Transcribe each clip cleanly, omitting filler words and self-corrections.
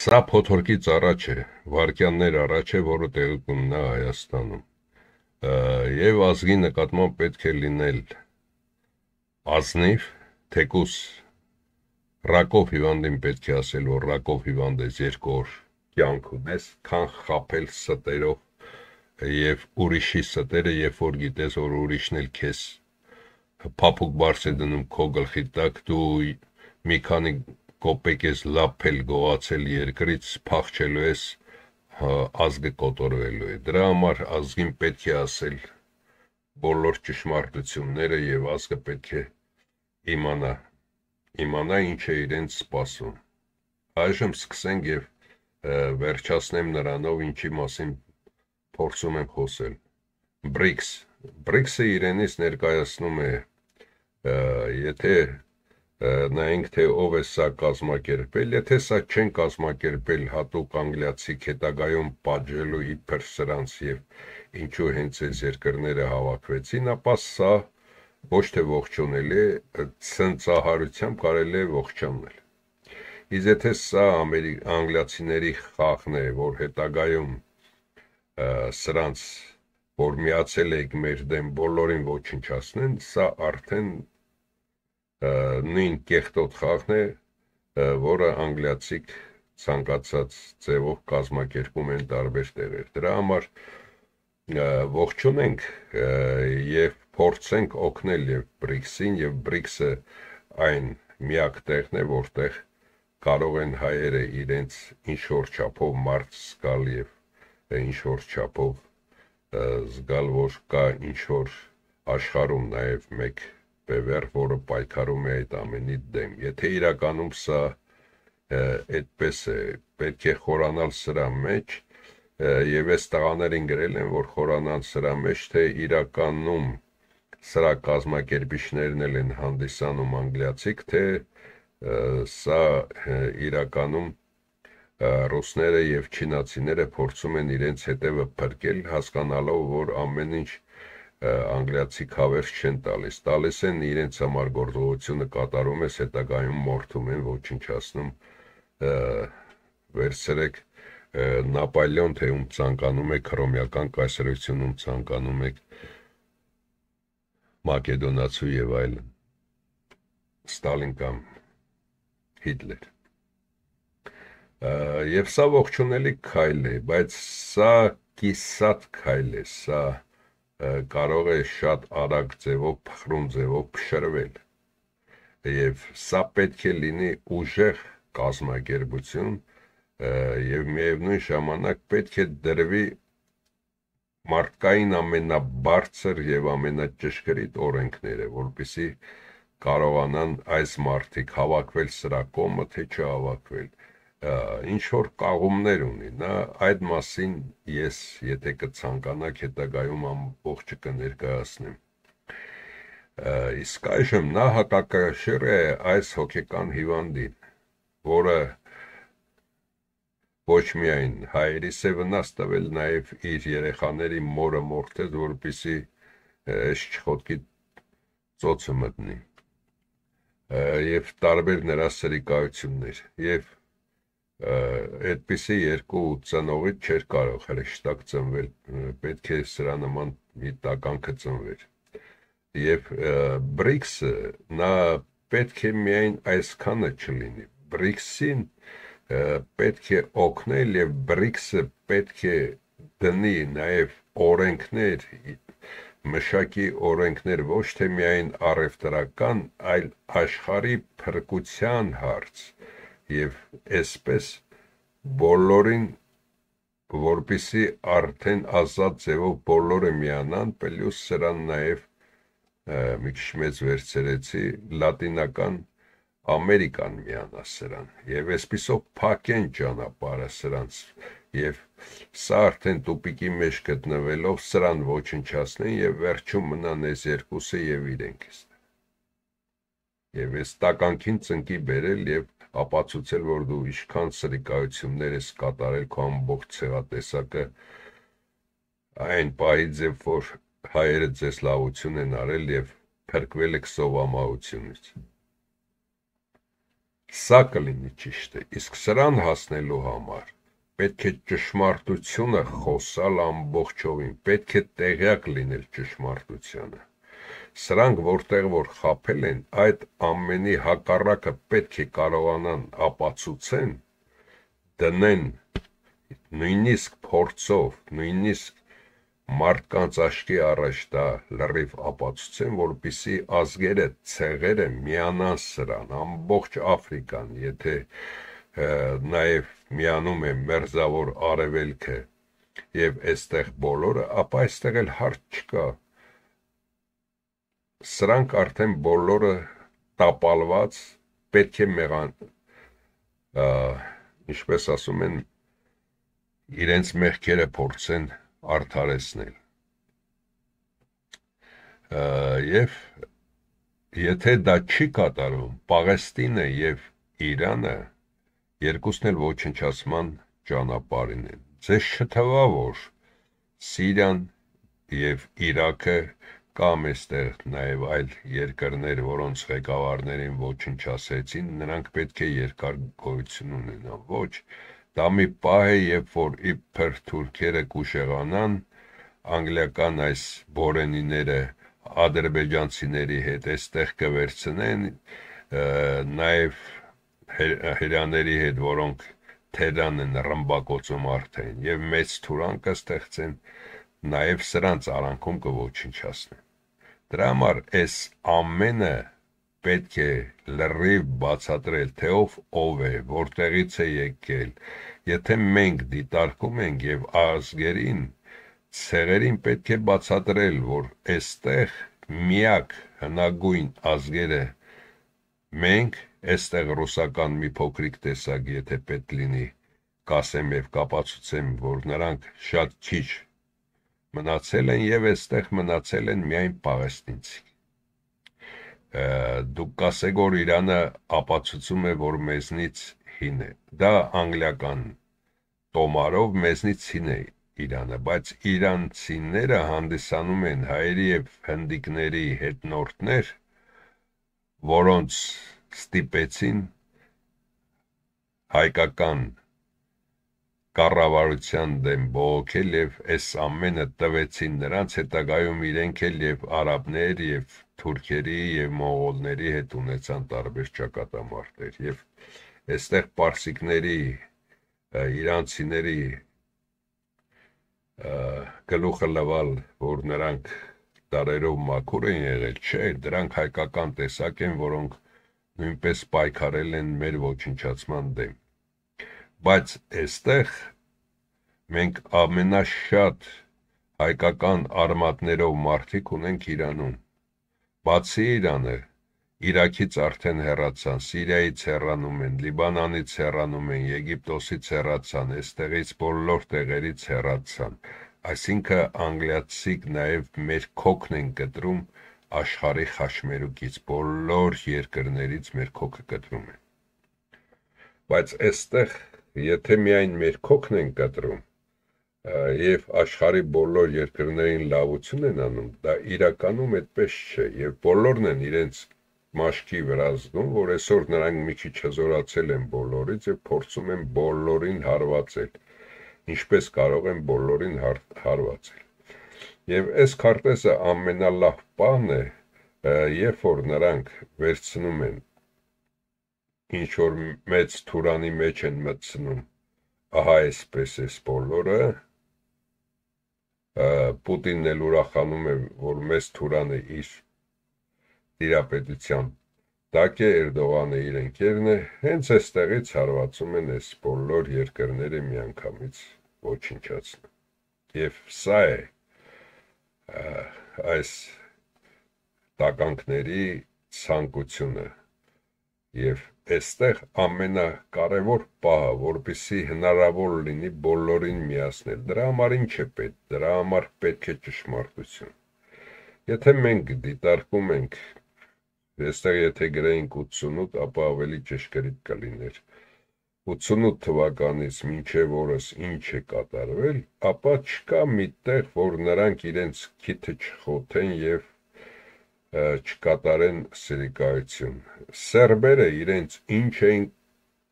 Սա փոթորկից առաջ է, վայրկյաններ առաջ է, որը տեղի կունենա Հայաստանում։ Եվ ազգի նկատմամբ պետք է լինել ազնիվ, թեկուզ ռակով հիվանդին պետք է ասել, որ ռակով հիվանդ ես, 2 օր կյանք ունես, քան խաբել ստերով եւ ուրիշի ստերը, երբ որ գիտես, որ ուրիշն էլ քեզ փափուկ բարձ է դնում քո գլխի տակ, դու մի քանի կոպեկ ես լափել, գողացել երկրից, փախչելու ես, ազգը կոտորվելու է։ Դրա համար ազգին պետք է ասել բոլոր ճշմարտությունները եւ ազգը պետք է իմանա ինչ է իրենց սպասում։ Այժմ սկսենք եւ վերջացնեմ նրանով, ինչի մասին փորձում եմ խոսել։ BRICS-ը իրենից ներկայացնում է, եթե նայենք, թե ով է սա կազմակերպել, եթե սա չեն կազմակերպել հատուկ անգլիացիք հետագայում պատժելու իբր սրանց եւ ինչու հենց այս երկրները հավաքվեցին, ապա սա ոչ թե ողջունելի է, ցնծահարությամբ կարելի է ողջանել։ Իսկ եթե սա անգլիացիների խաղն է, որ հետագայում սրանց, որ միացել եք մեր դեմ, բոլորին ոչնչացնեն, սա արդեն նույն կեղտոտ խաղն է, որը անգլիացիք ցանկացած ձևով կազմակերպում են տարբեր տեղեր։ Դրա համար ողջունենք եւ փորձենք օգնել եւ BRICS-ին, եւ BRICS-ը այն միակ տեղն է, որտեղ կարող են հայերը իրենց ինչ-որ չափով մարդ զգալ եւ ինչ-որ չափով զգալ, որ կա ինչ-որ աշխարհում նաեւ մեկ բևեռ, որը պայքարում է այդ ամենի դեմ։ Եթե իրականում սա այդպես է, պետք է խորանալ սրա մեջ, եւ այս տղաներին գրել են, որ խորանան սրա մեջ, թե իրականում սրա կազմակերպիչներն են հանդիսանում անգլիացիք, թե սա իրականում ռուսները եւ չինացիները փորձում են իրենց հետևը փրկել, հասկանալով, որ ամեն ինչ անգլիացիք հավերժ չեն տալիս են իրենց համար գործողությունը կատարում ես, հետագայում մորթում են, ոչնչացնում, վերցրեք Նապոլեոն, թե ում ցանկանում եք, հռոմեական կայսրությունում ցանկանում եք, մակեդոնացու եւ այլն, Ստալին կամ Հիտլեր։ Եվ սա ողջունելի քայլ է, բայց սա կիսատ քայլ է, սա կարող է շատ արագ ձևով, փխրուն ձևով փշրվել եւ սա պետք է լինի ուժեղ կազմակերպություն եւ միևնույն ժամանակ պետք է դրվի մարդկային ամենաբարձր եւ ամենաճշգրիտ օրենքները, որպեսզի կարողանան այս մարդիկ հավաքվել սրա կողմը, թե չհավաքվել, ինչ որ կաղումներ ունի, նա այդ մասին ես, եթե կցանկանաք, հետագայում ամբողջը կներկայացնեմ։ Իսկ այժմ նա հակակշիռ է այս հոգեկան հիվանդին, որը ոչ միայն հայերիս է վնաս տվել, նաև իր երեխաների մորը մորթեց, որպեսզի այս չխոտքի ծոցը մտնի, եւ տարբեր նրա սրիկայություններ, եւ այդպիսի երկու ծնողից չէր կարող հրեշտակ ծնվել, պետք է սրա նման մի տականքը ծնվեր։ Եվ BRICS-ը նա պետք է միայն այսքանը չլինի։ BRICS-ին պետք է օգնել եւ BRICS-ը պետք է դնի նաեւ օրենքներ, մշակի օրենքներ ոչ թե միայն առևտրական, այլ աշխարհի փրկության հարց եւ այսպես բոլորին, որպեսզի արդեն ազատ ձևով բոլորը միանան, պլյուս սրան նաեւ մի քիչ մեծ վերցրեցի լատինական Ամերիկան միանա սրան եւ այսպիսով փակեն ճանապարհը սրանց եւ սա արդեն տուպիկի մեջ գտնվելով սրան ոչնչացնեն եւ վերջում մնան այս երկուսը եւ իրենք եւ այս տականքին ծնկի բերել եւ ապացուցել, որ դու ինչքան սրիկայություններ ես կատարել քո ամբողջ ցեղատեսակը այն պահից, որ հայերը ձեզ լավություն են արել եւ փրկվել եք սովամահությունից։ Սա կլինի ճիշտ է, իսկ սրան հասնելու համար պետք է ճշմարտությունը խոսալ ամբողջովին, պետք է տեղյակ լինել ճշմարտությանը։ Սրանք որտեղ որ խաբել են, այդ ամենի հակառակը պետք է կարողանան ապացուցեն, դնեն նույնիսկ փորձով, նույնիսկ մարդկանց աչքի առաջ դա լրիվ ապացուցեն, որպեսզի ազգերը, ցեղերը միանան սրան, ամբողջ Աֆրիկան, եթե նաև միանում է մերձավոր արևելքը եւ այստեղ բոլորը, ապա այստեղ էլ հարց չկա։ Սրանք արդեն բոլորը տապալված, պետք է ինչպես ասում են, իրենց մեղքերը փորձեն արդարեցնել։ Եվ եթե դա չի կատարում, Պաղեստինը եւ Իրանը երկուսն էլ ոչնչացման ճանապարհին են։ Ձեզ չթվա, որ Սիրիան եւ Իրաքը կամ այստեղ նաև այլ երկրներ, որոնց ղեկավարներին ոչնչացրեցին, նրանք պետք է երկար գոյություն ունենան։ Ոչ, դա մի պահ է, երբ որ իբր թուրքերը կուշեղանան, անգլիական այս բորենիները ադրբեջանցիների հետ այստեղ կվերցնեն, նաև հրյաների հետ, որոնք թերան են ռմբակոծում արդեն, եւ մեծ թուրան կստեղծեն, նաև սրանց արանքում կոչնչացնեն։ Դրա համար այս ամենը պետք է լրիվ բացատրել, թե ով է, որտեղից է եկել։ Եթե մենք դիտարկում ենք եւ ազգերին, ցեղերին պետք է բացատրել, որ այստեղ միակ հնագույն ազգերը մենք, այստեղ ռուսական մի փոքրիկ տեսակ, եթե պետք լինի, կասեմ եւ կապացուցեմ, որ նրանք շատ քիչ մնացել են եւ այստեղ մնացել են միայն պաղեստինցի։ Դուք կասեք, որ Իրանը ապացուցում է, որ մեզնից հին է։ Դա անգլիական տոմարով մեզնից հին է Իրանը, բայց իրանցիները հանդիսանում են հայերի եւ հնդիկների հետնորդներ, որոնց ստիպեցին հայկական կառավարության դեմ բողոքել եւ այս ամենը տվեցին նրանց, հետագայում իրենք էլ եւ արաբներ եւ թուրքերի եւ մոնղոլների հետ ունեցան տարբեր ճակատամարտեր եւ այստեղ պարսիկների, իրանցիների գլուխը լվալ, որ նրանք տարերով մաքուր են եղել, չէ, դրանք հայկական տեսակ են, որոնք նույնպես պայքարել են մեր ոչնչացման դեմ։ Բայց այստեղ մենք ամենաշատ հայկական արմատներով մարդիկ ունենք Իրանում։ Բացի Իրանը, Իրաքից արդեն հեռացան, Սիրիայից հեռանում են, Լիբանանից հեռանում են, Եգիպտոսից հեռացան, այստեղից բոլոր տեղերից հեռացան։ Այսինքն անգլիացիք նաև մեր քոքն են կտրում աշխարհի խաչմերուկից, բոլոր երկրներից մեր քոքը կտրում են։ Բայց այստեղ եթե միայն մեր քոքն են կտրում եւ աշխարհի բոլոր երկրներին լավություն են անում, դա իրականում այդպես չէ եւ բոլորն են իրենց մաշկի վրա զգում, որ այսօր նրանք մի քիչ հզորացել են բոլորից եւ փորձում են բոլորին հարվածել, ինչպես կարող են բոլորին հարվածել։ Եվ այս քարտեզը ամենալավ բանն է, երբ որ նրանք վերցնում են ինչ որ մեծ թուրանի մեջ են մտցնում, ահա այսպես էս բոլորը, Պուտինն էլ ուրախանում է, որ մեծ թուրանը իր տիրապետության տակ է, Էրդողանը իր ընկերն է, հենց այստեղից հարվածում են այս բոլոր երկրները միանգամից ոչնչացնում։ Եվ սա է այս տականքների ցանկությունը եւ այստեղ ամենակարևոր պահը, որպեսզի հնարավոր լինի բոլորին միացնել։ Դրա համար ինչ է պետք։ Դրա համար պետք է ճշմարտություն։ Եթե մենք դիտարկում ենք, այստեղ եթե գրեինք 88, ապա ավելի ճշգրիտ կլիներ։ 88 թվականից մինչև օրս ինչ է կատարվել, ապա չկա մի տեղ, որ նրանք իրենց քիթը չխոթեն եւ չկատարեն սիրիկայություն։ Սերբերը իրենց ինչ էին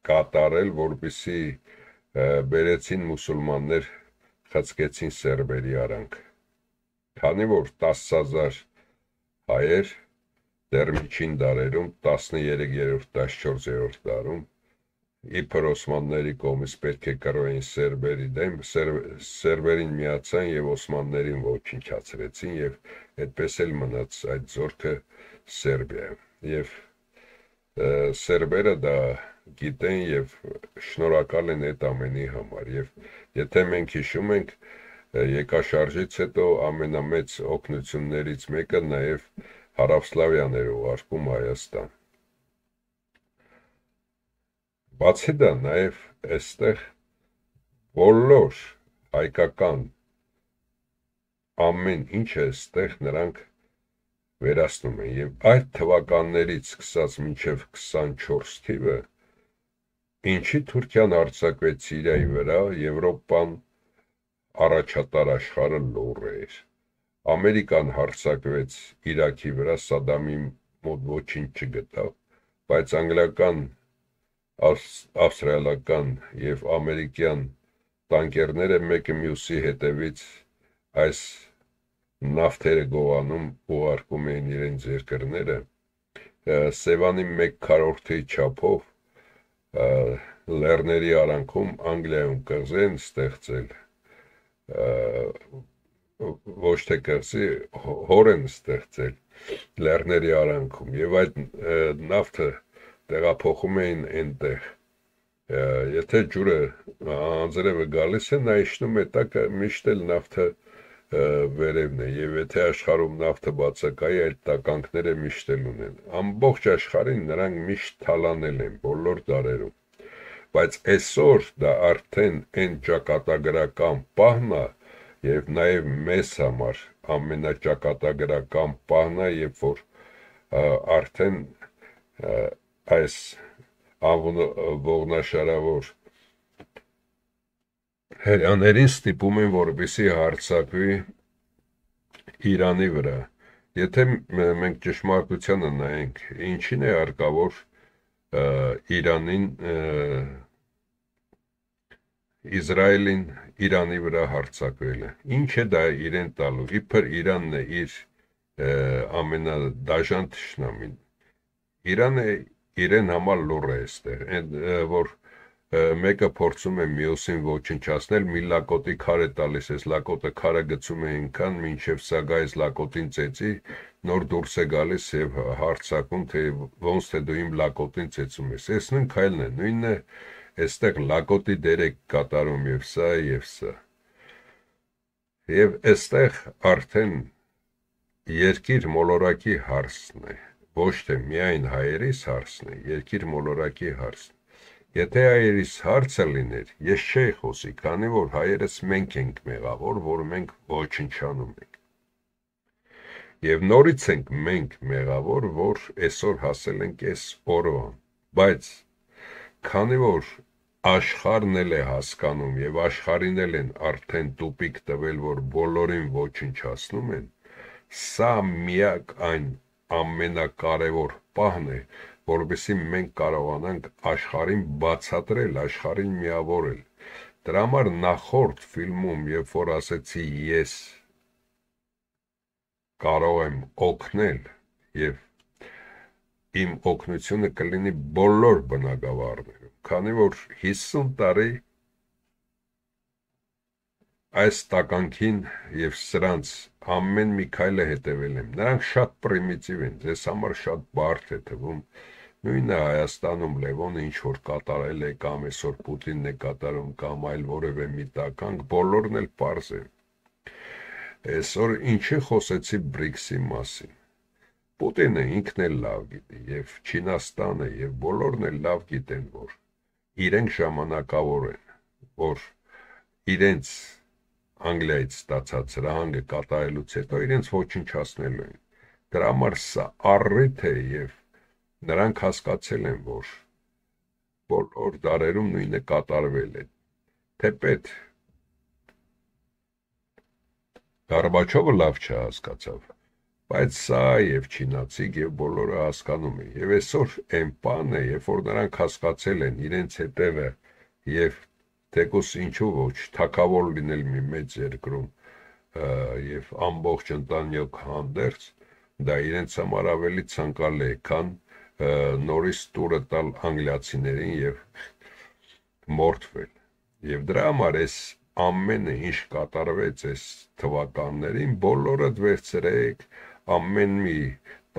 կատարել, որպեսզի բերեցին մուսուլմաններ խցկեցին սերբերի արանք։ Քանի որ 10,000 հայեր դեռ միջին դարերում 13-րդ 14-րդ դարում իբր օսմանների կողմից պետք է կռվեին սերբերի դեմ, սերբերին միացան եւ օսմաններին ոչնչացրեցին եւ այդպես էլ մնաց այդ զորքը Սերբիայում։ Եվ սերբերը դա գիտեն եւ շնորհակալ են այդ ամենի համար։ Եվ եթե մենք հիշում ենք եկաշարժից հետո ամենամեծ օգնություններից մեկը նաեւ Հարավսլավիան էր ուղարկում Հայաստան։ Բացի դա նաև այստեղ բոլոր հայկական ամեն ինչը այստեղ նրանք վերացնում են եւ այդ թվականներից սկսած մինչեւ 24 թիվը ինչի Թուրքիան հարձակվեց Սիրիայի վրա, Եվրոպան առաջատար աշխարհը լուռ էր։ Ամերիկան հարձակվեց Իրաքի վրա, Սադամի մոտ ոչինչ չգտավ, բայց անգլիական ավստրալիական եւ ամերիկյան տանկերները մեկը մյուսի հետևից այս նավթերը գողանում ուղարկում էին իրենց երկրները Սևանի 1/4 չափով լեռների արանքում Անգլիայում կղզեն ստեղծել ոչ թե կղզի հոր են ստեղծել լեռների արանքում եւ այդ նավթը տեղափոխում էին այնտեղ եթե ջուրը անձրևը գալիս է նա իջնում է տակը միշտ էլ նավթը վերևն է եւ եթե աշխարհում նավթը բացակայի այդ տականքները միշտ էլ ունեն ամբողջ աշխարհին նրանք միշտ թալանել են բոլոր դարերում բայց այսօր դա արդեն այն ճակատագրական պահն է եւ նաեւ մեզ համար ամենաճակատագրական պահն է երբ որ արդեն այս ողնաշարավոր հրյաներին ստիպում են որպեսզի հարձակվի Իրանի վրա եթե մենք ճշմարտությանը նայենք ինչին է հարկավոր Իրանին Իսրայելին Իրանի վրա հարձակվելը ինչ է դա իրեն տալու իբր Իրանն է իր ամենադաժան թշնամին Իրանը իրեն համար լուռ է այստեղ այն որ մեկը փորձում է մյուսին ոչնչացնել մի լակոտի քար է տալիս այս լակոտը քարը գցում է այնքան մինչև սա գայս լակոտին ծեծի նոր դուրս է գալիս եւ հարցակում թե ոնց թե դու իմ լակոտին ծեծում ես այս նույն քայլն է նույնն է այստեղ լակոտի դեր է կատարում եւ սա եւ այստեղ արդեն երկիր մոլորակի հարցն է ոչ թե միայն հայերիս հարցն է երկիր մոլորակի հարցն Եթե հայերիս հարցը լիներ, ես չէի խոսի, քանի որ հայերս մենք ենք մեղավոր, որ մենք ոչնչանում ենք։ Եվ նորից ենք մենք մեղավոր, որ այսօր հասել ենք այս օրվան, բայց քանի որ աշխարհն էլ է հասկանում եւ աշխարհին էլ են արդեն տուպիկ տվել, որ բոլորին ոչնչացնում են, սա միակ այն ամենակարևոր պահն է, որովհետեւ մենք կարողանանք աշխարհին բացատրել, աշխարհին միավորել։ Դրա համար նախորդ ֆիլմում, երբ որ ասեցի ես կարող եմ օգնել եւ իմ օգնությունը կլինի բոլոր բնակավարներում, քանի որ 50 տարի այս տականքին եւ սրանց ամեն մի քայլը հետևել եմ։ Նրանք շատ պրիմիտիվ են, ձեզ համար շատ բարդ է թվում։ Նույնը Հայաստանում Լևոնը ինչ որ կատարել է կամ այսօր Պուտինն է կատարում կամ այլ որևէ մի տականք, բոլորն էլ պարզ է։ Այսօր ինչի խոսեցի BRICS-ի մասին։ Պուտինը ինքն էլ լավ գիտի եւ Չինաստանը եւ բոլորն էլ լավ գիտեն, որ իրենք ժամանակավոր են, որ իրենց Անգլիայից ստացած հրահանգը կատարելուց հետո իրենց ոչնչացնելու են։ Դրա համար սա առիթ է եւ Նրանք հասկացել են, որ բոլոր դարերում նույնը կատարվել է։ Թեպետ Գորբաչովը լավ չհասկացավ, Բայց սա եւ չինացիք եւ բոլորը հասկանում են։ Եվ այսօր այն բանն է, երբ որ նրանք հասկացել են իրենց հետևը եւ թեկուս ինչու ոչ թակավոր լինել մի մեծ երկրում եւ ամբողջ ընտանիք հանդերձ, դա իրենց համար ավելի ցանկալի է, քան նորից տուրը տալ անգլիացիներին եւ մորթվել։ Եվ դրա համար այս ամենը ինչ կատարվեց այս թվականներին, բոլորը վերցրեք ամեն մի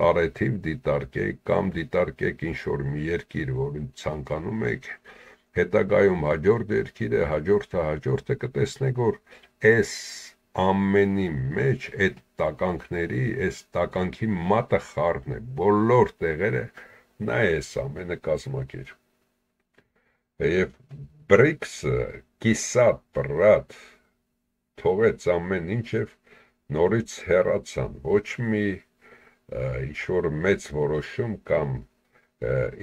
տարեթիվ դիտարկեք կամ դիտարկեք ինչ-որ մի երկիր, որին ցանկանում եք, հետագայում հաջորդ երկիրը, հաջորդը կտեսնեք, որ այս ամենի մեջ այդ տականքների, այս տականքի մատը խառն է, բոլոր տեղերը նա է այս ամենը կազմակերպ։ Եվ BRICS-ը կիսատ պրատ թողեց ամեն ինչ եւ նորից հեռացան, ոչ մի ինչ-որ մեծ որոշում կամ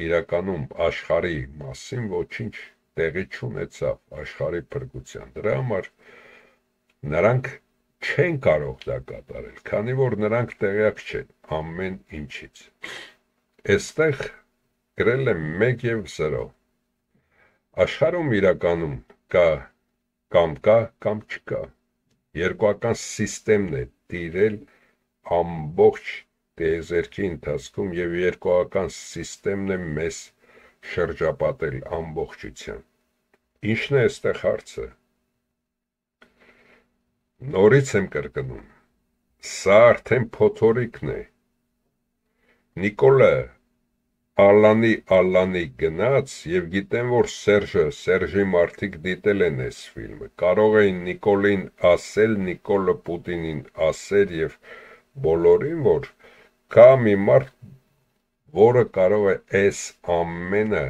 իրականում աշխարհի մասին ոչինչ տեղի չունեցավ աշխարհի փրկության։ Դրա համար նրանք չեն կարող դա կատարել, քանի որ նրանք տեղյակ չեն ամեն ինչից։ Այստեղ գրել եմ 1 եւ 0։ Աշխարհում իրականում կա կամ չկա։ Երկուական սիստեմն է տիրել ամբողջ տիեզերքի ընթացքում եւ երկուական սիստեմն է մեզ շրջապատել ամբողջությամբ։ Ինչն է այստեղ հարցը։ Նորից եմ կրկնում։ Սա արդեն փոթորիկն է։ Նիկոլը Ալանի գնաց եւ գիտեմ, որ Սերժի մարդիկ դիտել են այս ֆիլմը։ Կարող էին Նիկոլին ասել, Նիկոլը Պուտինին ասել եւ բոլորին, որ կա մի մարդ, որը կարող է այս ամենը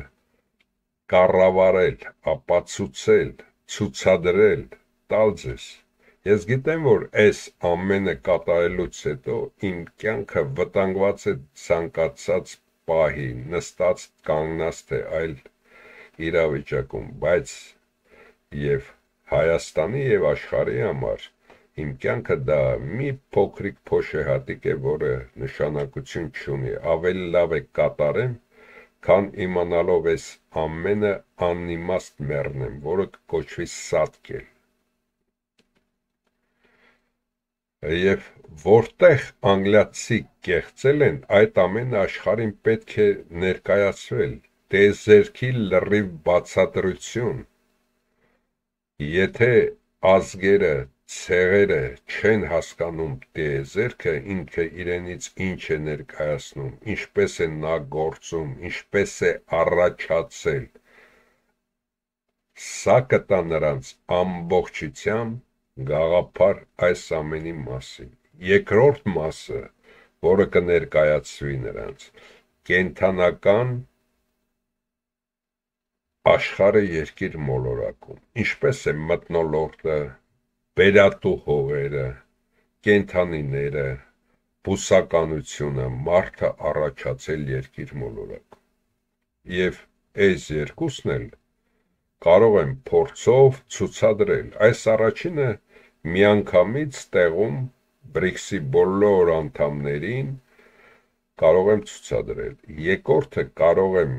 կառավարել, ապացուցել, ցուցադրել, տալ ձեզ։ Ես գիտեմ, որ այս ամենը կատարելուց հետո իմ կյանքը վտանգված է ցանկացած պահի, նստած կանգնած թե այլ իրավիճակում, բայց եւ Հայաստանի եւ աշխարհի համար իմ կյանքը դա մի փոքրիկ փոշեհատիկ է, որը նշանակություն չունի, ավելի լավ է կատարեմ, քան իմանալով այս ամենը անիմաստ մեռնեմ, որը կոչվի սատկել։ Եվ որտեղ անգլիացի կեղծել են, այդ ամենը աշխարհին պետք է ներկայացվել, տիեզերքի լրիվ բացատրություն։ Եթե ազգերը, ցեղերը չեն հասկանում տիեզերքը, ինքը իրենից ինչ է ներկայացնում, ինչպես է նա գործում, ինչպես է առաջացել, սա կտա նրանց ամբողջությամբ գաղափար այս ամենի մասին։ Երկրորդ մասը, որը կներկայացվի նրանց, կենթանական աշխարհը երկիր մոլորակում, ինչպես է մթնոլորտը, բերատու հողերը, կենթանիները, բուսականությունը, մարդը առաջացել երկիր մոլորակում։ Եվ այս երկուսն էլ կարող են փորձով ցուցադրել։ Այս առաջինը միանգամից տեղում BRICS-ի բոլոր անդամներին կարող եմ ցուցադրել։ Երկրորդը կարող եմ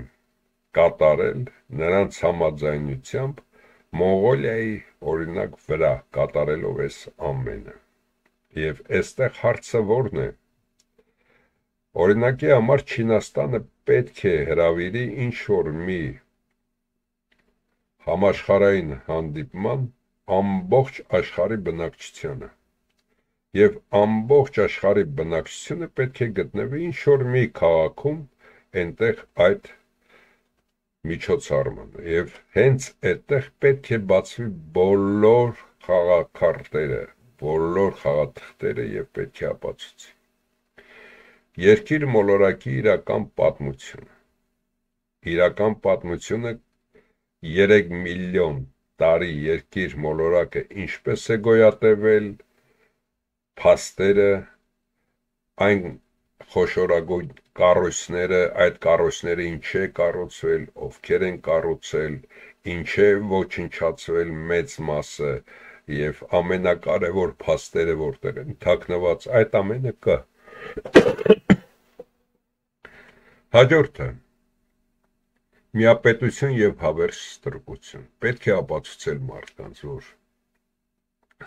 կատարել նրանց համաձայնությամբ Մոնղոլիայի օրինակ վրա կատարելով այս ամենը։ Եվ այստեղ հարցը ո՞րն է։ Օրինակի համար Չինաստանը պետք է հրավիրի ինչ-որ մի համաշխարհային հանդիպման ամբողջ աշխարհի բնակչությանը եւ ամբողջ աշխարհի բնակչությունը պետք է գտնվի ինչ-որ մի քաղաքում, այնտեղ այդ միջոցառմանը եւ հենց այդտեղ պետք է բացվի բոլոր խաղաքարտերը, բոլոր խաղաթղթերը եւ պետք է ապացուցի երկիր մոլորակի իրական պատմությունը 3 միլիոն տարի երկիր մոլորակը ինչպես է գոյատևել, փաստերը, այն խոշորագույն կառույցները, այդ կառույցները ինչ է կառուցվել, ովքեր են կառուցել, ինչ է ոչնչացվել մեծ մասը եւ ամենակարևոր փաստերը որտեղ են թաքնված, այդ ամենը կա։ Հաջորդը միապետություն եւ հավերժ ստրկություն։ Պետք է ապացուցել մարդկանց, որ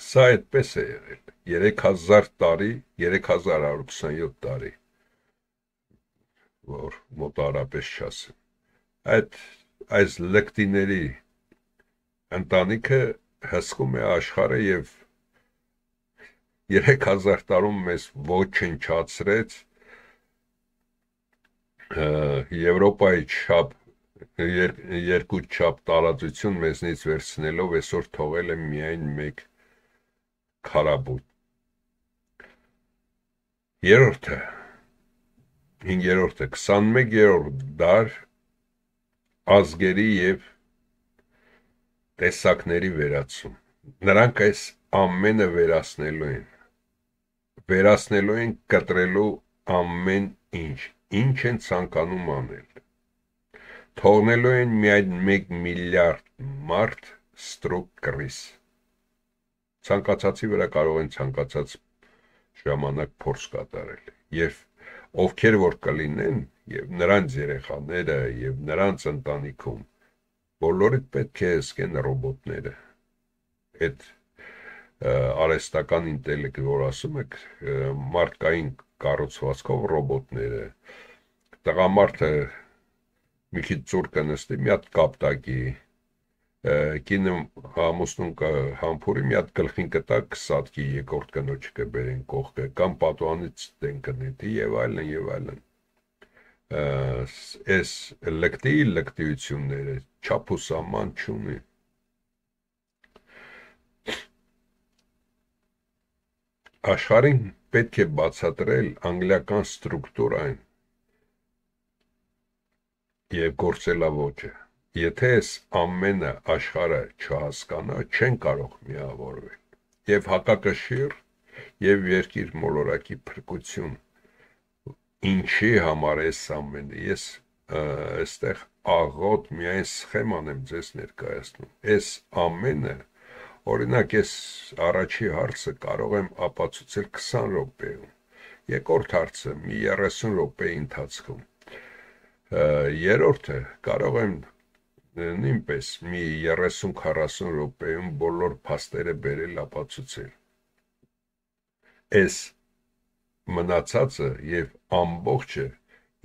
սա այդպես է եղել 3000 տարի, 3127 տարի, որ մոտարապես չասեմ։ Այս լկտիների ընտանիքը հսկում է աշխարհը եւ 3000 տարում մեզ ոչնչացրեց Եվրոպայի չափ երկու չափ տարածություն մեզնից վերցնելով այսօր թողել է միայն մեկ քարաբույն։ Երրորդը 21-րդ դար ազգերի եւ տեսակների վերացում։ Նրանք այս ամենը վերացնելու են կտրելու ամեն ինչ են ցանկանում անել։ Թողնելու են միայն 1 միլիարդ մարդ ստրուկ կռիս։ Ցանկացածի վրա կարող են ցանկացած ժամանակ փորձ կատարել։ Եվ ովքեր որ կլինեն, եւ նրանց երեխաները, եւ նրանց ընտանիքում, բոլորիդ պետք է զգեն ռոբոտները։ Այդ արհեստական ինտելեկտ, որ ասում եք, մարդկային կառուցվածքով ռոբոտները, տղամարդը մի քիչ ծուր կնստի, մի հատ կապտակի, կինը ամուսնուն կհամբուրի, մի հատ գլխին կտակ սատկի երկրորդ կնոջը կբերեն կողքը, կամ պատուհանից դեն կնետի եւ այլն եւ այլն։ Այս լկտիությունները չափ ու սահման չունի։ Աշխարհին պետք է բացատրել անգլիական ստրուկտուրային եւ գործելավոճը։ Եթե այս ամենը աշխարհը չհասկանա, չեն կարող միավորվել։ Եվ հակակշիռ եւ երկիր մոլորակի փրկություն։ Ինչի համար էս ամենը։ Ես այստեղ աղոտ միայն սխեման եմ ձեզ ներկայացնում։ Այս ամենը, օրինակ, ես առաջի հարցը կարող եմ ապացուցել 20 րոպեում։ Երկրորդ հարցը մի 30 րոպեի ընթացքում։ Երրորդը կարող եմ նույնպես մի 30-40 րոպեում բոլոր փաստերը բերել ապացուցել։ Այս մնացածը եւ ամբողջը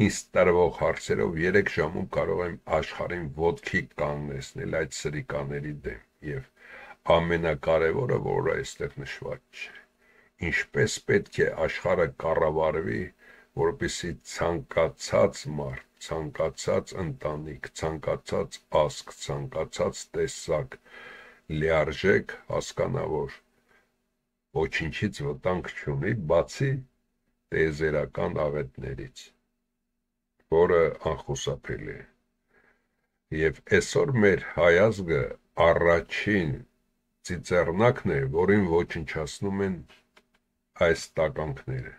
ինձ տրվող հարցերով 3 ժամում կարող եմ աշխարհին ոտքի կանգնեցնել այդ սրիկաների դեմ եւ ամենակարևորը, որը այստեղ նշված չէ, ինչպես պետք է աշխարհը կառավարվի, որպեսզի ցանկացած մարդ, ցանկացած ընտանիք, ցանկացած ազգ, ցանկացած տեսակ լիարժեք հասկանա, որ ոչինչից վտանգ չունի, բացի տիեզերական աղետներից, որը անխուսափելի է։ Եվ այսօր մեր հայազգը առաջին ծիծեռնակն է, որին ոչնչացնում են այս տականքները։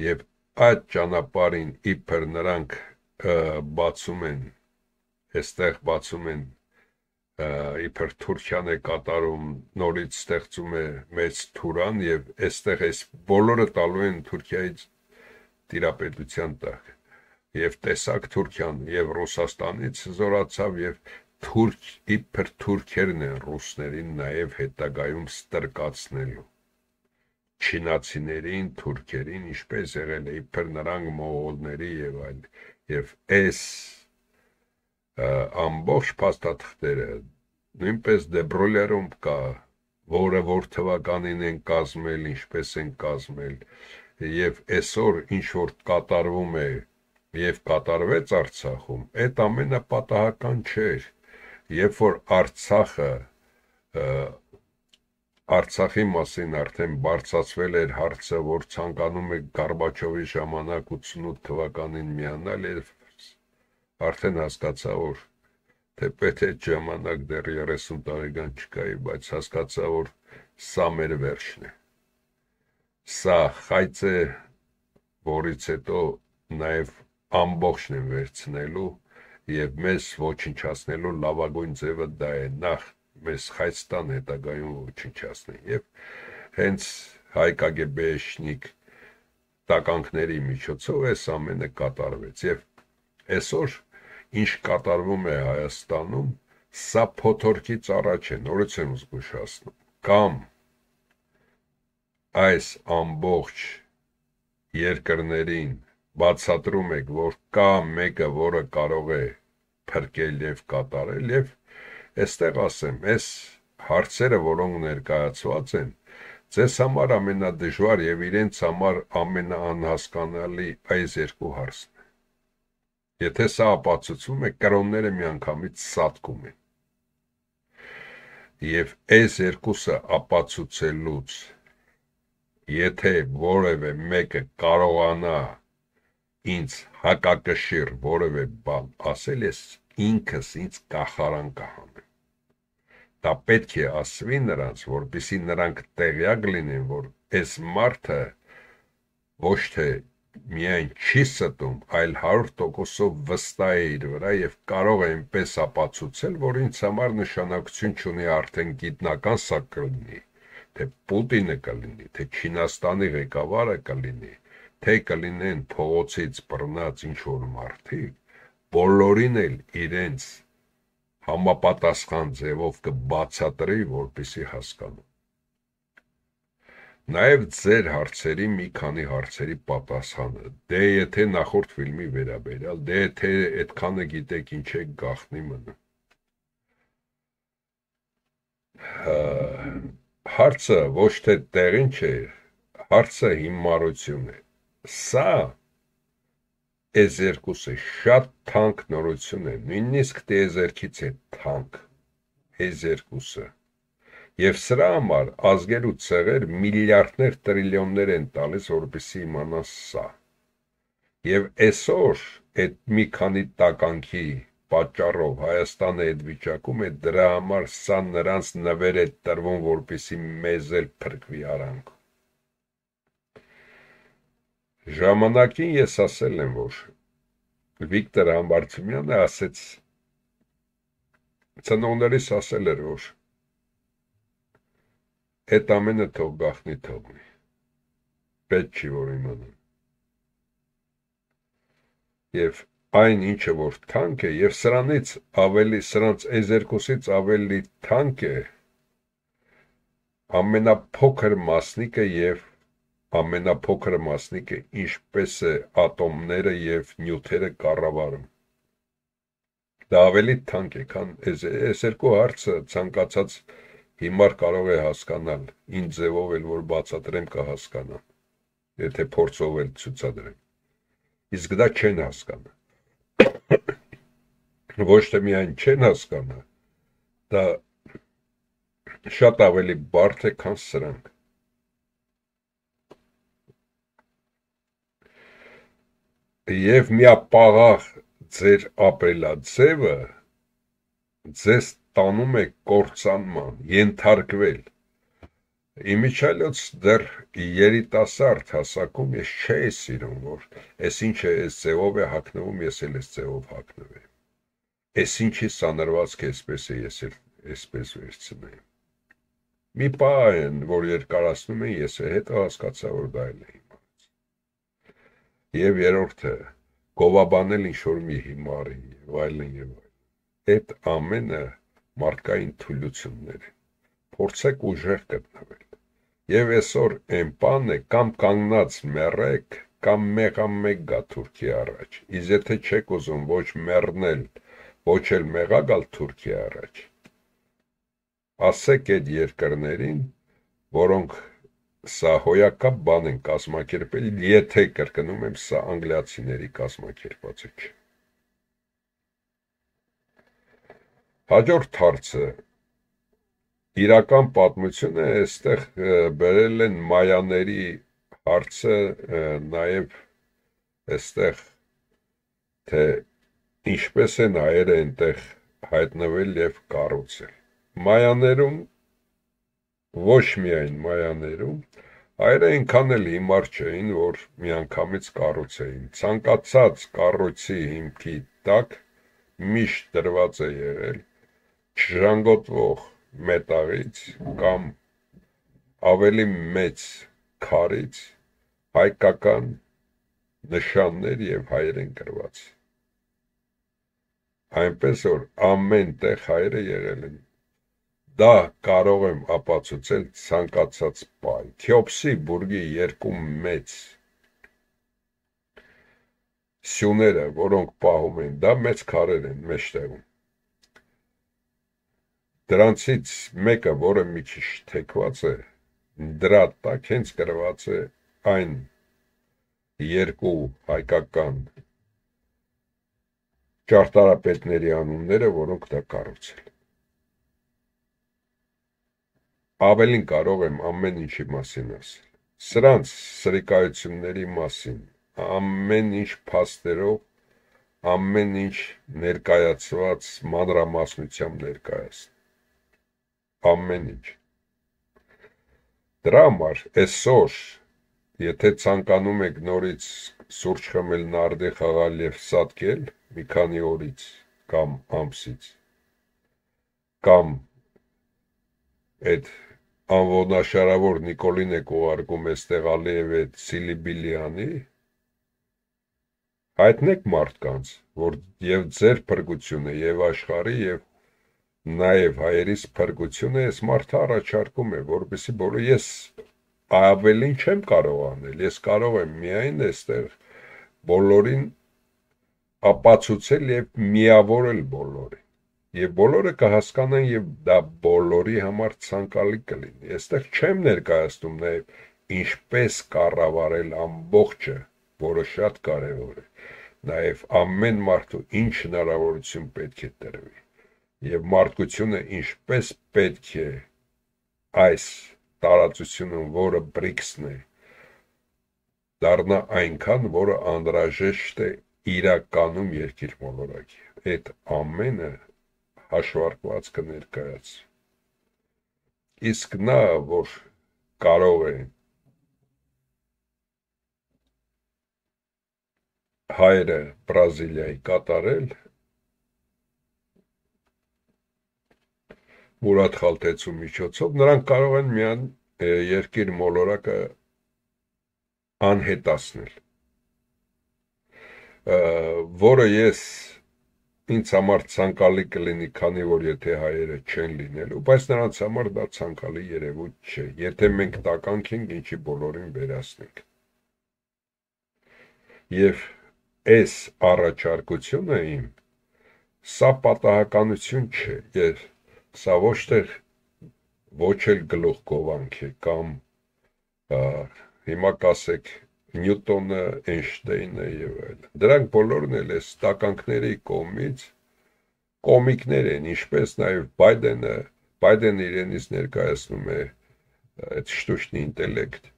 Եվ այդ ճանապարհին իբր նրանք բացում են, այստեղ բացում են, իբր Թուրքիան է կատարում, նորից ստեղծում է մեծ Թուրան եւ այստեղ այս բոլորը տալու են Թուրքիայից տիրապետության տակ։ Եվ տեսակ Թուրքիան եւ Ռուսաստանից զորացավ եւ իբր թուրքերն են ռուսներին նաեւ հետագայում ստրկացնելու։ Չինացիներին, թուրքերին, ինչպես եղել է, իբր նրանք մողոլների եւ այլ, եւ այս ամբողջ փաստաթղթերը նույնպես Դեբրոլերում կա, որը որ թվականին են կազմել, ինչպես են կազմել, եւ այսօր ինչ որ կատարվում է եւ կատարվեց Արցախում, այդ ամենը պատահական չէր, երբ որ Արցախի մասին արդեն բարձրացվել էր հարցը, որ ցանկանում է Գորբաչովի ժամանակ 88 թվականին միանալ, եւ արդեն հասկացա, որ թեպետ այդ ժամանակ դեռ 30 տարեկան չկայի, բայց հասկացա, որ սա մեր վերջն է։ Սա խայծ է, որից հետո նաեւ ամբողջն են վերցնելու եւ մեզ ոչնչացնելու լավագույն ձևը դա է, նախ մեզ Հայաստան հետագայում ոչնչացնեն եւ հենց հայ կագեբեշնիկ տականքների միջոցով այս ամենը կատարվեց եւ այսօր ինչ կատարվում է Հայաստանում, սա փոթորկից առաջ է, նորից եմ զգուշացնում, կամ այս ամբողջ երկրներին բացատրում եք, որ կա մեկը, որը կարող է փրկել եւ կատարել եւ այստեղ ասեմ, այս հարցերը, որոնք ներկայացված են, ձեզ համար ամենադժվար եւ իրենց համար ամենաանհասկանալի այս երկու հարցն է։ Եթե սա ապացուցվում է, կրոնները միանգամից սատկում են։ Եվ այս երկուսը ապացուցելուց, եթե որևէ մեկը կարողանա ինձ հակակշիռ որևէ բան ասել, ես ինքս ինձ կախարան կհանեմ։ Դա պետք է ասվի նրանց, որպեսզի նրանք տեղյակ լինեն, որ այս մարդը ոչ թե միայն չի ստում, այլ 100%-ով վստահ է իր վրա եւ կարող է այնպես ապացուցել, որ ինձ համար նշանակություն չունի արդեն գիտնական սա կլինի, թե Պուտինը կլինի, թե Չինաստանի ղեկավարը կլինի, թե կլինեն փողոցից բռնած ինչ-որ մարդիկ, բոլորին էլ իրենց համապատասխան ձևով կբացատրի, որպեսզի հասկանան։ Նաև ձեր հարցերի մի քանի հարցերի պատասխանը, դե եթե նախորդ ֆիլմի վերաբերյալ, դե եթե այդքանը գիտեք ինչ է գաղտնի մնում։ Հարցը ոչ թե տեղին չէ, հարցը հիմարություն է։ Սա այս երկուսը շատ թանկ նորություն է, նույնիսկ տիեզերքից է թանկ այս երկուսը։ Եվ սրա համար ազգեր ու ցեղեր միլիարդներ, տրիլիոններ են տալիս, որպեսզի իմանան սա։ Եվ այսօր այդ մի քանի տականքի պատճառով Հայաստանը այդ վիճակում է, դրա համար սա նրանց նվեր է տրվում, որպեսզի մեզ էլ փրկվի արանք։ Ժամանակին ես ասել եմ, որ Վիկտոր Համբարձումյանը ասեց, ծնողներիս ասել էր, որ այդ ամենը թող գախնի թողնի, պետք չի, որ իմանան։ Եվ այն ինչը, որ թանկ է, եւ սրանից ավելի, սրանց այս երկուսից ավելի թանկ է ամենափոքր մասնիկը եւ ամենափոքր մասնիկը ինչպես է ատոմները եւ նյութերը կառավարում։ Դա ավելի թանկ է, քան այս երկու հարցը ցանկացած հիմար կարող է հասկանալ, ինչ ձևով էլ որ բացատրեմ կհասկանան, եթե փորձով էլ ցուցադրեմ։ Իսկ դա չեն հասկանա։ Ոչ թե միայն չեն հասկանա, դա շատ ավելի բարդ է, քան սրանք։ Եվ միապաղաղ ձեր ապրելաձևը ձեզ տանում է կործանման, ենթարկվել։ Իմիջիայլոց դեռ երիտասարդ հասակում ես չէի սիրում, որ այս ինչը այս ձևով է հագնվում, ես էլ այս ձևով հագնվեմ։ Այս ինչի սանրվածք է, այսպես է, ես էլ այսպես վերցնեմ։ Մի պահ են, որ երկարացնում են, ես հետո հասկացա, որ դա էլ է հիմարից։ Եվ երրորդը, գովաբանել ինչ-որ մի հիմարի, եւ այլն եւ այլն։ Այդ ամենը մարդկային թուլություններ են։ Փորձեք ուժեղ գտնվել։ Եվ այսօր այն բանն է, կամ կանգնած մեռեք, կամ մեղամեկ գա Թուրքիա առաջ։ Իսկ եթե չեք ուզում ոչ մեռնել, ոչ էլ մեղա գալ Թուրքիա առաջ, ասեք այդ երկրներին, որոնք սա հոյակապ բան են կազմակերպել, եթե կրկնում եմ, սա անգլիացիների կազմակերպածը չէ։ Հաջորդ հարցը, իրական պատմությունը այստեղ բերել են մայաների հարցը, նաև այստեղ, թե ինչպես են հայերը այնտեղ հայտնվել եւ կառուցել։ Մայաներում, ոչ միայն մայաներում, հայերը այնքան էլ հիմար չէին, որ միանգամից կառուցեին։ Ցանկացած կառույցի հիմքի տակ միշտ դրված է եղել չժանգոտվող մետաղից կամ ավելի մեծ քարից, հայկական նշաններ եւ հայերեն գրված։ Այնպես որ ամեն տեղ հայերը եղել են։ Դա կարող եմ ապացուցել ցանկացած պահ։ Քյոփսի բուրգի երկու մեծ սյուները, որոնք պահում են, դա մեծ քարեր են մեջտեղում։ Դրանցից մեկը, որը մի քիչ թեքված է, դրա տակ հենց գրված է այն երկու հայկական ճարտարապետների անունները, որոնք դա կառուցել։ Ավելին կարող եմ ամեն ինչի մասին ասել։ Սրանց սրիկայությունների մասին ամեն ինչ փաստերով, ամեն ինչ ներկայացված մանրամասնությամբ ներկայացնել։ Ամեն ինչ։ Դրա համար այսօր, եթե ցանկանում եք նորից սուրճ խմել, նարդի խաղալ եւ սատկել մի քանի օրից կամ ամսից, կամ այդ անվնաշարավոր Նիկոլին եք ուղարկում այստեղ Ալիև այդ Սիլիբիլյանի, հայտնեք մարդկանց, որ եւ ձեր փրկությունը եւ աշխարհի եւ նաեւ հայերիս փրկությունը այս մարդը առաջարկում է, որովհետեւ բոլորը ես ավելին չեմ կարող անել, ես կարող եմ միայն այստեղ բոլորին ապացուցել եւ միավորել բոլորին, եւ բոլորը կհասկանան եւ դա բոլորի համար ցանկալի կլինի։ Այստեղ չեմ ներկայացնում նաեւ ինչպես կառավարել ամբողջը, որը շատ կարեւոր է, նաեւ ամեն մարդու ինչ հնարավորություն պետք է տրվի եւ մարդկությունը ինչպես պետք է այս տարածությունը, որը BRICS-ն է, դառնա այնքան, որը անհրաժեշտ է իրականում երկիր մոլորակի։ Այդ ամենը հաշվարկված կներկայացվի։ Իսկ նա, որ կարող է հայերը Բրազիլիայի կատարել, Մուրադ Խալթեցու միջոցով, նրանք կարող են միայն երկիր մոլորակը անհետացնել, որը ինձ համար ցանկալի կլինի, քանի որ եթե հայերը չեն լինելու, բայց նրանց համար դա ցանկալի երևույթ չէ, եթե մենք տականք ենք, ինչի բոլորին վերացնենք։ Եվ այս առաջարկությունը իմ, սա պատահականություն չէ, եւ սա ոչ էլ գլուխգովանք է, կամ հիմա կասեք Նյուտոնը, Էյնշտեյնը եւ այլն։ Դրանք բոլորն էլ այս տականքների կողմից կոմիկներ են, ինչպես նաեւ Բայդենը իրենից ներկայացնում է այդ շտուշնի ինտելեկտ,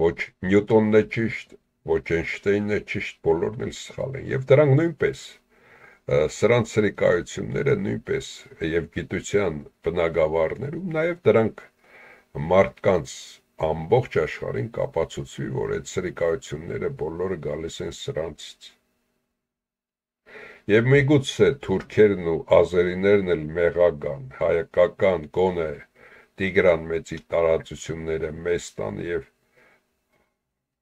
ոչ Նյուտոնն է ճիշտ, ոչ Էյնշտեյնն է ճիշտ, բոլորն էլ սխալ են, եւ դրանք նույնպես սրանց սրիկայությունները նույնպես եւ գիտության բնագավառներում նաեւ դրանք մարդկանց ամբողջ աշխարհին կապացուցվի, որ այդ սրիկայությունները բոլորը գալիս են սրանցից։ Եվ միգուցե թուրքերն ու ազերիներն էլ մեղական, հայկական գոնե Տիգրան մեծի տարածությունները մեզ տան եւ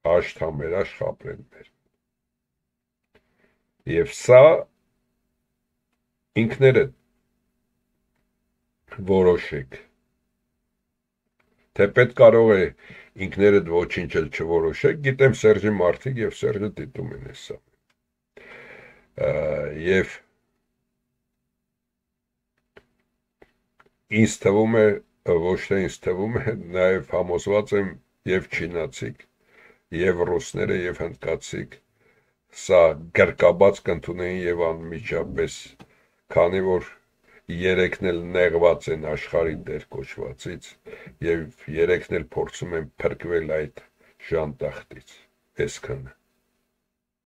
հաշտ-համերաշ խաբրեն մեր։ Եվ սա ինքներդ որոշեք, թե պետք կարող է ինքներդ ոչինչ էլ չորոշեք, գիտեմ Սերժի մարդիկ եւ Սերժը դիտում են հեսա։ Եվ ինձ թվում է, ոչ թե ինձ թվում է, նաեւ համոզված եմ եւ չինացիք, եւ ռուսները եւ հնդկացիք սա գրկաբաց կընդունեին եւ անմիջապես, քանի որ երեքն էլ նեղված են աշխարհի դեր կոչվածից եւ երեքն էլ փորձում են փրկվել այդ ժանտախտից, այսքանը։